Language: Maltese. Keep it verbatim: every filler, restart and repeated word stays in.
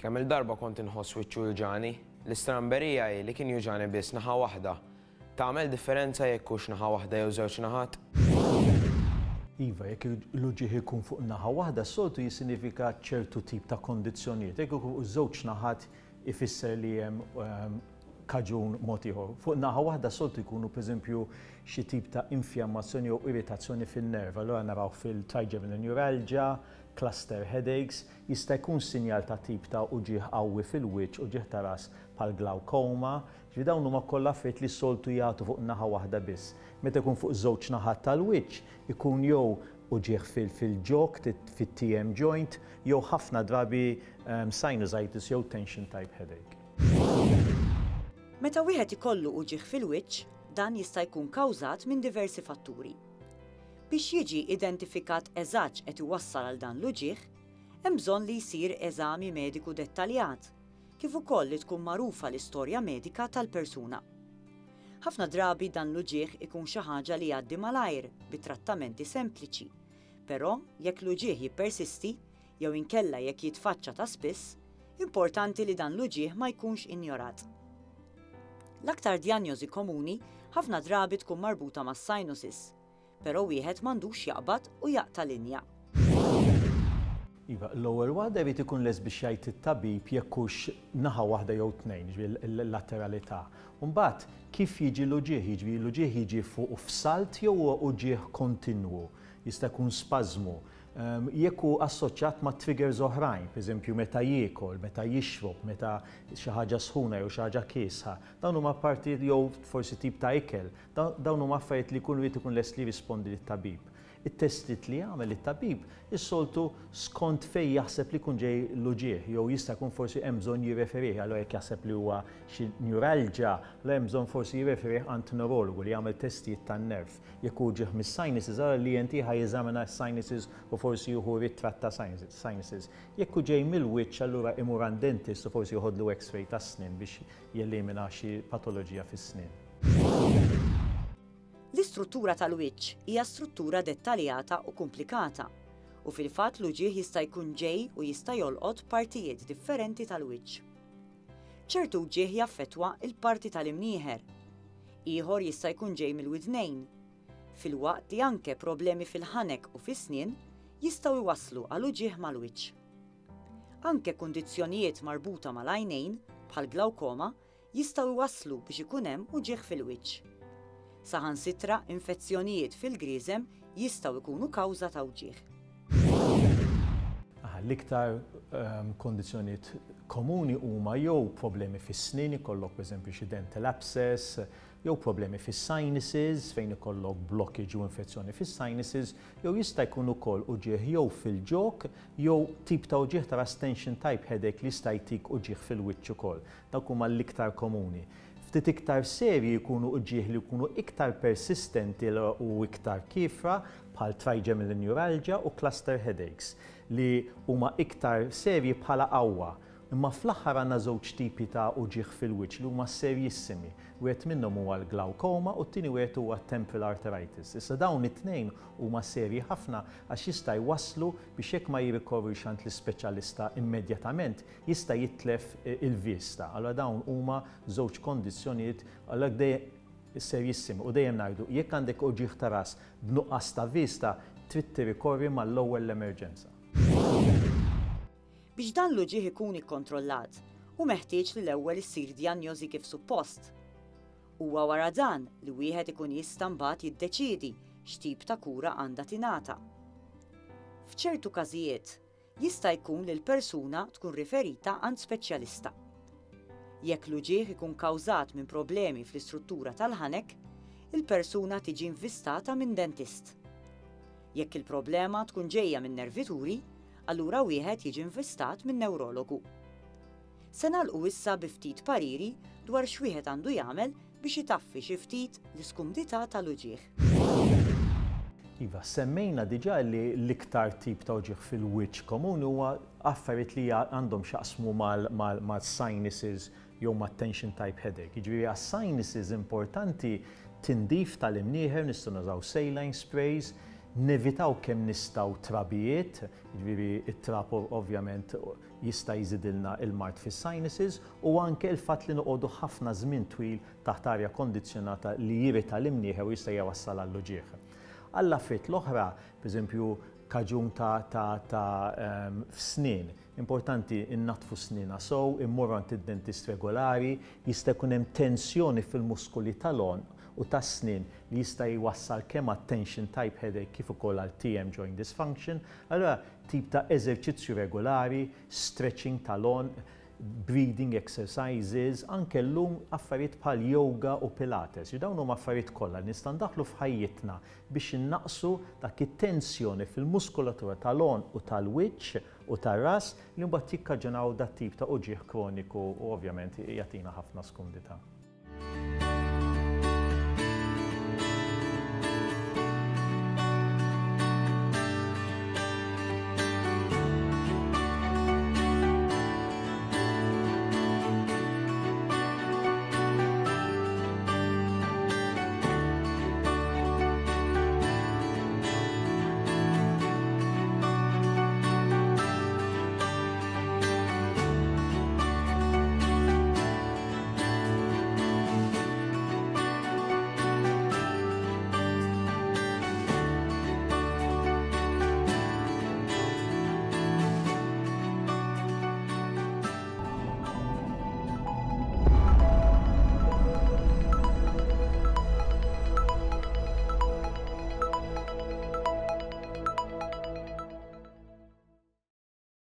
Kemm il-darba kont inħoss wiċċi juġgħani, l-istramberija hi li kien juġgħani biss naħa waħda. Tagħmel differenza jekk hux naħa waħda jew żewġ naħat? Iva, jekk l-uġigħ ikun fuq naħa waħda, soltu jissinifika ċertu tip ta' kondizzjonijiet. Jekk ikun fuq żewġ naħat, ifisser li hemm ehm, kaġun mod ieħor. Fuq naħa waħda soltu jkunu, pereżempju, xi tip ta' infjammazzjoni jew irritazzjoni fin-nerv. Allura naraw fil-trigeminal neuralgia, cluster headaches, jista' jkun sinjal ta' tip ta' uġigħ qawwi fil-wiċċ, uġigħ ta' ras bħal glaucoma. Ġifieri dawn huma kollha affarijiet li soltu jagħtu fuq naħa waħda biss. Meta jkun fuq żewġ naħat tal-wiċċ, ikun jew uġigħ fil-ġog, fit-T M joint, jew ħafna drabi um, sinusitis jew tension type headache. Meta wieħed ikollu uġigħ fil-wiċċ, dan jista' jkun kawżat minn diversi fatturi. Biex jiġi identifikat eżatt qed iwassal għal dan l-uġigħ, hemm bżonn li jsir eżami mediku dettaljat, kif ukoll li tkun magħrufa l-istorja medika tal-persuna. Ħafna drabi dan l-uġigħ ikun xi ħaġa li jgħaddi malajr bi trattamenti sempliċi. Però jekk l-uġigħ jippersisti jew inkella jekk jitfaċċa ta' spiss, importanti li dan l-uġigħ ma jkunx injorat. L-aktar djanjosi komuni ħafna drabi tkun marbuta mas sinuses, però wieħed m'għandux jaqbad u jaqta' linja. Iva, l-ewwel waħda jrid ikun lest biex jgħid it-tabib jekk hux naħa waħda jew tnejn, ġifieri l-lateralità. Mbagħad kif jiġi l-uġigħ, jiġifieri l-uġigħ jiġi fuq f'salt jew huwa uġigħ kontinwu, jista' jkun spażmu. Ehm, jekk hu assoċjat ma' triggers oħrajn, pereżempju meta jiekol, meta jixrob, meta xi ħaġa sħuna jew xi ħaġa kiesħa, dawn huma parti jew forsi tip ta' ikel, dawn huma affarijiet li jkunu jrid ikun lest li jirrispondi lit-tabib. It-testijiet li jagħmel it-tabib is-soltu skont fej jaħseb li jkun ġej l-uġigħ, jew jista' jkun forsi hemm bżonn jirreferih, allura jekk jaħseb li huwa xi neuralgia, la hemm bżonn forsi jirreferih għand neurologu li jagħmel testijiet tan-nerv. Jekk hu uġigħ mis-sinuses, allura li E N T ħa jeżamina s-sinuses u forsi jieħu ritratt ta' sinuses. Jekk hu ġej mill-wiċċ, allura imur għand dentist u forsi joħodlu X-ray tas-snien biex jelimina xi patoloġija fis-snien. L-istruttura tal-wiċċ hija struttura dettaljata u komplikata u fil-fatt l-uġigħ jista' jkun ġej u jista' jolqot partijiet differenti tal-wiċċ. Ċertu uġigħ jaffettwa il-parti tal-imnieħer, ieħor jista' jkun ġej mill-widnejn, filwaqt li anke problemi fil-ħanek u fis-snien jistgħu jwasslu għal uġigħ mal-wiċċ. Anke kundizzjonijiet marbuta mal-għajnejn bħal glaukoma jistgħu jwasslu biex ikun hemm uġigħ fil-wiċċ. Saħansitra infezzjonijiet fil-griżem jistgħu jkunu kawża ta' uġigħ. L-iktar um, kondizzjonijiet komuni huma jew problemi fis-snien, ikollok pereżempju xi dental abscess, jew problemi fis-sinuses fejn ikollok blockage u infezzjoni fis-sinuses, jew jista' jkun ukoll uġigħ jew fil-ġog jew tip ta' uġigħ ta' tension type headache li jista' jtik uġigħ fil-wiċċ ukoll. Dawk huma l-iktar komuni. Ftit iktar serji jkunu uġigħ li jkunu iktar persistenti u iktar kiefra, bħal trigeminal neuralgia u cluster headaches li huma iktar serji bħala qawwa. Imma fl-aħħar għandna żewġ tipi ta' uġigħ fil-wiċċ li huma serjissimi. Wieħed minnhom huwa l-glaucoma u t-tieni wieħed huwa temporal arteritis. Issa dawn it-tnejn huma serji ħafna għax jista' jwasslu biex jekk ma jirrikorrix għand l-ispeċjalista immedjatament, jista' jitlef il-vista. Allura dawn huma żewġ kondizzjonijiet għalhekk serjissimi u dejjem ngħidu, jekk għandek uġigħ ta' ras b'nuqqas ta' vista, trid tirrikorri mal-ewwel l-emerġenza. Biex dan l-uġigħ ikun ikkontrollat, hu meħtieġ li l-ewwel issir djanjosi kif suppost. Huwa wara dan li wieħed ikun jista' mbagħad jiddeċiedi x'tip ta' kura għandha tingħata. F'ċertu każijiet jista' jkun li l-persuna tkun riferita għand speċjalista. Jekk l-uġigħ ikun kawżat minn problemi fl-istruttura tal-ħanek, il-persuna tiġi invistata minn dentist. Jekk il-problema tkun ġejja minn nervituri, allura wieħed jiġi invistat minn neurologu. Se nagħlqu issa bi ftit pariri dwar x'wieħed għandu jagħmel biex itaffi xi ftit l-iskumdità tal-uġigħ. Iva, semmejna diġà li l-iktar tip ta' uġigħ fil-wiċċ komuni huwa affarijiet li għandhom x'jaqsmu mal-sinuses jew ma' tension type headache. Jiġifieri għas-sinuses importanti tindif tal-imnieħer, nistgħu nużaw saline sprays, Nevitaw kemm nistgħu trabijiet, jiġifieri it-trab ovvjament jista' jżidilna il-mard fis-sinuses, u anke il-fatt li noqogħdu ħafna żmien twil taħt arja kondizzjonata li jirrita l-imnieħer u jista' jwassal għall-uġigħ. Għall-affarijiet l-oħra, pereżempju kaġun ta' ta' ta' um, f'snien, importanti innaddfu snienna sew, immorru għand id-dentist regolari, jista' jkun hemm tensjoni fil-muskoli tal-għonq u tas-snien li jista' jwassal kemm għat tension type headache kif ukoll għal T M joint dysfunction. Allora tip ta' eżerċizzju regolari, stretching tal-għonq, breathing exercises, anke llum affarijiet bħal yoga u pilates. Dawn huma affarijiet kollha li nistgħu ndaħlu f'ħajjitna biex innaqsu dak it-tensjoni fil-muskolatura tal-għonq u tal-wiċċ u tar-ras li mbagħad jikkaġunaw dat tip ta' uġigħ kroniku u ovvjament jagħtina ħafna skumdità.